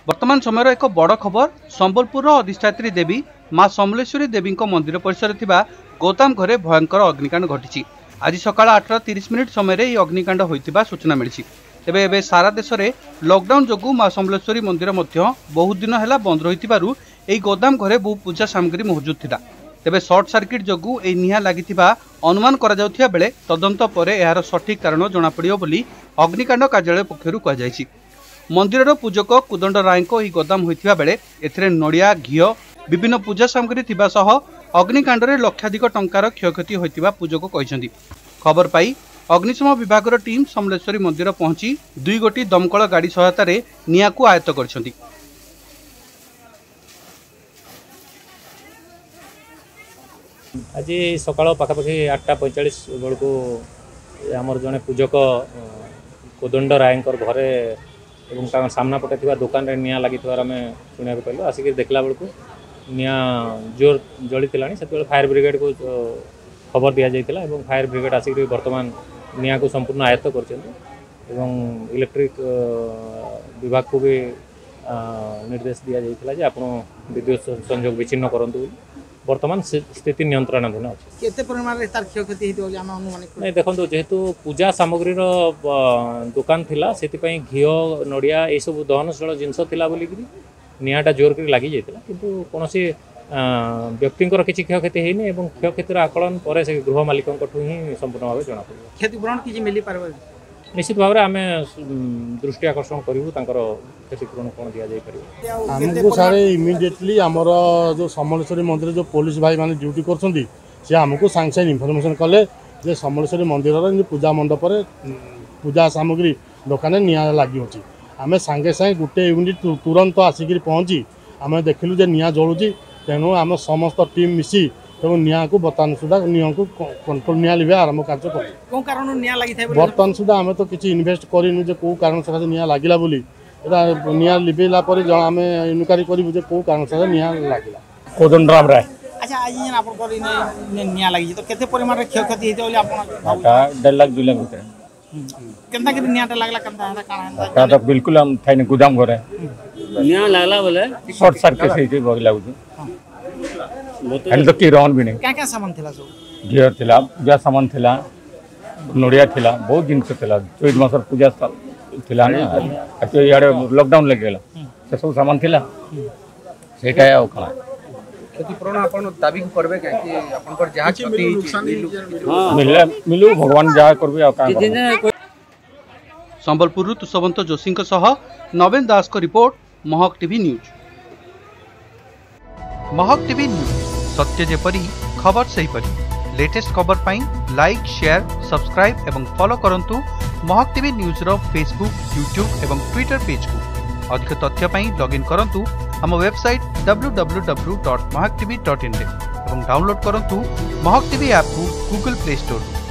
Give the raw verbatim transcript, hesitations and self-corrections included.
ବର୍ତ୍ତମାନ ସମୟର ଏକ ବଡ଼ ଖବର ସମ୍ବଲପୁରର ଅଧିଷ୍ଠାତ୍ରୀ ଦେବୀ ମା ସମଲେଶ୍ୱରୀ ଦେବୀଙ୍କ ମନ୍ଦିର ପରିସରରେ ଥିବା ଗୋଦାମ ଘରେ ଭୟଙ୍କର ଅଗ୍ନିକାଣ୍ଡ ଘଟିଛି। ଆଜି ସକାଳ ଆଠଟା ତିରିଶ ମିନିଟ୍ ସମୟରେ ଏହି ଅଗ୍ନିକାଣ୍ଡ ହୋଇଥିବା ସୂଚନା ମିଳିଛି। ତେବେ ଏବେ ସାରା ଦେଶରେ ଲକଡାଉନ ଯୋଗୁଁ ମା ସମଲେଶ୍ୱରୀ ମନ୍ଦିର ମଧ୍ୟ ବହୁତ ଦିନ ହେଲା ବନ୍ଦ ରହିଥିବାରୁ ଏହି ଗୋଦାମ ଘରେ ବହୁ ପୂଜା ସାମଗ୍ରୀ ମହଜୁଦ ଥିଲା। ତେବେ ସର୍ଟ ସାର୍କିଟ୍ ଯୋଗୁଁ ଏହି ନିଆଁ ଲାଗିଥିବା ଅନୁମାନ କରାଯାଉଥିବା ବେଳେ ତଦନ୍ତ ପରେ ଏହାର ସଠିକ୍ କାରଣ ଜଣାପଡ଼ିବ ବୋଲି ଅଗ୍ନିକାଣ୍ଡ କାର୍ଯ୍ୟାଳୟ ପକ୍ଷରୁ କୁହାଯାଇଛି। ମନ୍ଦିରର ପୂଜକ କୁଦଣ୍ଡ ରାୟଙ୍କ ଏହି ଗୋଦାମ ହୋଇଥିବା ବେଳେ ଏଥିରେ ନଡ଼ିଆ, ଘିଅ, ବିଭିନ୍ନ ପୂଜା ସାମଗ୍ରୀ ଥିବା ସହ ଅଗ୍ନିକାଣ୍ଡରେ ଲକ୍ଷାଧିକ ଟଙ୍କାର କ୍ଷୟକ୍ଷତି ହୋଇଥିବା ପୂଜକ କହିଛନ୍ତି। ଖବର ପାଇ ଅଗ୍ନିଶମ ବିଭାଗର ଟିମ୍ ସମଲେଶ୍ୱରୀ ମନ୍ଦିର ପହଞ୍ଚି ଦୁଇ ଗୋଟି ଦମକଳ ଗାଡ଼ି ସହାୟତାରେ ନିଆଁକୁ ଆୟତ୍ତ କରିଛନ୍ତି। ଆଜି ସକାଳ ପାଖାପାଖି ଆଠଟା ପଇଁଚାଳିଶ ବେଳକୁ ଆମର ଜଣେ ପୂଜକ କୋଦଣ୍ଡ ରାୟଙ୍କର ଘରେ ଏବଂ ତାଙ୍କ ସାମ୍ନା ପଟେ ଥିବା ଦୋକାନରେ ନିଆଁ ଲାଗିଥିବାର ଆମେ ଶୁଣିବାକୁ ପାଇଲୁ। ଆସିକି ଦେଖିଲା ବେଳକୁ ନିଆଁ ଜୋର ଜଳିଥିଲାଣି। ସେତେବେଳେ ଫାୟାର ବ୍ରିଗେଡ଼କୁ ଖବର ଦିଆଯାଇଥିଲା ଏବଂ ଫାୟାର ବ୍ରିଗେଡ଼ ଆସିକରି ବର୍ତ୍ତମାନ ନିଆଁକୁ ସମ୍ପୂର୍ଣ୍ଣ ଆୟତ୍ତ କରିଛନ୍ତି ଏବଂ ଇଲେକ୍ଟ୍ରିକ୍ ବିଭାଗକୁ ବି ନିର୍ଦ୍ଦେଶ ଦିଆଯାଇଥିଲା ଯେ ଆପଣ ବିଦ୍ୟୁତ ସଂଯୋଗ ବିଚ୍ଛିନ୍ନ କରନ୍ତୁ ବୋଲି। ବର୍ତ୍ତମାନ ସ୍ଥିତି ନିୟନ୍ତ୍ରଣାଧୀନ ଅଛି। କେତେ ପରିମାଣରେ ତାର କ୍ଷୟକ୍ଷତି ହେଇଥିବ ବୋଲି ଆମେ ଅନୁମାନ? ନାଇଁ, ଦେଖନ୍ତୁ, ଯେହେତୁ ପୂଜା ସାମଗ୍ରୀର ଦୋକାନ ଥିଲା, ସେଥିପାଇଁ ଘିଅ, ନଡ଼ିଆ ଏସବୁ ଦହନଶୀଳ ଜିନିଷ ଥିଲା ବୋଲିକିରି ନିଆଁଟା ଜୋର କରି ଲାଗିଯାଇଥିଲା। କିନ୍ତୁ କୌଣସି ବ୍ୟକ୍ତିଙ୍କର କିଛି କ୍ଷୟକ୍ଷତି ହେଇନି ଏବଂ କ୍ଷୟକ୍ଷତିର ଆକଳନ ପରେ ସେ ଗୃହ ମାଲିକଙ୍କଠୁ ହିଁ ସମ୍ପୂର୍ଣ୍ଣ ଭାବେ ଜଣାପଡ଼ିବ। କ୍ଷତିପୂରଣ କିଛି ମିଳିପାରିବ? ନିଶ୍ଚିତ ଭାବରେ ଆମେ ଦୃଷ୍ଟି ଆକର୍ଷଣ କରିବୁ, ତାଙ୍କର କ୍ଷତିପୂରଣ କ'ଣ ଦିଆଯାଇପାରିବ। ଆମକୁ ସାର୍ ଇମିଡ଼ିଏଟଲି ଆମର ଯେଉଁ ସମଲେଶ୍ୱରୀ ମନ୍ଦିର ଯେଉଁ ପୋଲିସ ଭାଇମାନେ ଡ୍ୟୁଟି କରୁଛନ୍ତି, ସେ ଆମକୁ ସାଙ୍ଗେ ସାଙ୍ଗେ ଇନଫର୍ମେସନ୍ କଲେ ଯେ ସମଲେଶ୍ୱରୀ ମନ୍ଦିରର ଏମିତି ପୂଜା ମଣ୍ଡପରେ ପୂଜା ସାମଗ୍ରୀ ଦୋକାନରେ ନିଆଁ ଲାଗିଅଛି। ଆମେ ସାଙ୍ଗେ ସାଙ୍ଗେ ଗୋଟେ ୟୁନିଟ୍ ତୁରନ୍ତ ଆସିକିରି ପହଞ୍ଚି ଆମେ ଦେଖିଲୁ ଯେ ନିଆଁ ଜଳୁଛି। ତେଣୁ ଆମ ସମସ୍ତ ଟିମ୍ ମିଶି ତେଣୁ ନିଆଁକୁ ବର୍ତ୍ତମାନ ସୁଦ୍ଧା ନିଆଁକୁ କଣ୍ଟ୍ରୋଲ, ନିଆଁ ଲିଭେଇବା ଆରମ୍ଭ କାର୍ଯ୍ୟ କଲୁ। କେଉଁ କାରଣରୁ ନିଆଁ ଲାଗିଥାଏ? ବର୍ତ୍ତମାନ ସୁଦ୍ଧା ଆମେ ତ କିଛି ଇନଭେଷ୍ଟ କରିନୁ ଯେ କେଉଁ କାରଣ ସକାଶେ ନିଆଁ ଲାଗିଲା ବୋଲି। ଏଇଟା ନିଆଁ ଲିଭେଇଲା ପରେ ଜଣା ଆମେ ଇନକ୍ୱାରି କରିବୁ ଯେ କେଉଁ କାରଣ ସକାଶେ ନିଆଁ ଲାଗିଲା। କୋଦଣ୍ଡ ରାମ ରାୟ। ଆଚ୍ଛା, ଆଜି ଯେନ୍ ଆପଣଙ୍କର ନିଆଁ ଲାଗିଛି, ତ କେତେ ପରିମାଣରେ କ୍ଷୟକ୍ଷତି ହେଇଥିବ ବୋଲି ଆପଣ? ଦେଢ଼ ଲାଖ ଦୁଇ ଲାଖ ଭିତରେ। କେନ୍ତା କରି ନିଆଁଟା ଲାଗଲା, କେନ୍ତା ହେଲା, କାଣା ହେଲା? ତ ବିଲକୁଲ ଆମ ଥାଇନି ଗୋଦାମ ଘରେ। ନିଆଁ ଲାଗଲା ବୋଲେ ସର୍ଟ ସର୍କିଟ୍ ହେଇଛି ଲାଗୁଛି। ହେଲେ ତ କେହି ରହନ୍ ବି ନାହିଁ। କାଁ କାଁ ସାମାନ ଥିଲା ସବୁ? ଘିଅ ଥିଲା, ପୂଜା ସାମାନ ଥିଲା, ନଡ଼ିଆ ଥିଲା, ବହୁତ ଜିନିଷ ଥିଲା। ଚୈତ ମାସର ପୂଜା ଥିଲା ନା, ଇଆଡ଼େ ଲକଡାଉନ ଲାଗିଗଲା, ସେସବୁ ସାମାନ ଥିଲା। ସେଇଟା ଆଉ କ'ଣ କ୍ଷତିପୂରଣ ଆପଣ ଦାବି କରିବେ? କାହିଁକି ଆପଣଙ୍କର ଯାହା କ୍ଷତି ମିଳିଲେ ମିଳୁ, ଭଗବାନ ଯାହା କରିବେ ଆଉ କାଁ। ସମ୍ବଲପୁରରୁ ତୁଷବନ୍ତ ଯୋଶୀଙ୍କ ସହ ନବୀନ ଦାସଙ୍କ report, Mahak TV news. Mahak TV news, ସତ୍ୟ ଯେପରି ଖବର ସେହିପରି। ଲେଟେଷ୍ଟ ଖବର ପାଇଁ ଲାଇକ୍, ସେୟାର, ସବସ୍କ୍ରାଇବ୍ ଏବଂ ଫଲୋ କରନ୍ତୁ ମହକ ଟିଭି ନ୍ୟୁଜ୍ର ଫେସବୁକ୍, ୟୁଟ୍ୟୁବ୍ ଏବଂ ଟ୍ୱିଟର ପେଜ୍କୁ। ଅଧିକ ତଥ୍ୟ ପାଇଁ ଲଗ୍ଇନ୍ କରନ୍ତୁ ଆମ website W W W dot Mahak TV dot ଇନ୍ରେ ଏବଂ ଡାଉନଲୋଡ୍ କରନ୍ତୁ ମହକ ଟିଭି ଆପ୍କୁ ଗୁଗଲ ପ୍ଲେ ଷ୍ଟୋରରୁ।